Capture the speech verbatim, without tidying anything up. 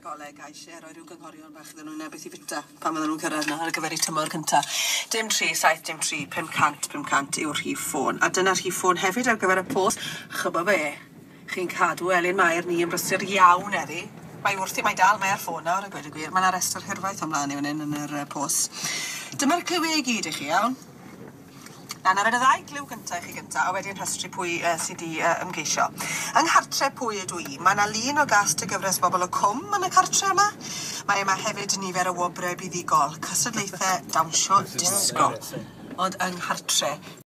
goleg a eisiau rhoi rhyw gynghorion bach iddyn nhw na beth i fita pan fydden nhw'n cyrraedd yna ar gyfer eu tymor cynta. Dim tri, saith, dim tri, pum cant, pum cant yw'r rhif ffôn. A dyna'r rhif ffôn hefyd ar gyfer y post. Ch'bo be? Chi'n cadw Elin Mair ni yn brysur iawn heddi. Mae wrthi, mae dal, mae ar ffôn nawr a gweud y gwir. Mae 'na restr hirfaith o mlaen i fan hyn yn yr uh, post. Dyma'r cliwiau i gyd i chi, iawn? Na, na, y ddau gliw gynta i chi gynta, a wedyn rhestru pwy uh, sydd 'di uh, ymgeisio. Yng nghartre pwy ydw i, mae 'na lun o gast y gyfres Bobol y Cwm yn y cartre yma. Mae yma hefyd nifer o wobrau buddugol, cystadlaethau dawnsio disgo. Ond yng nghartre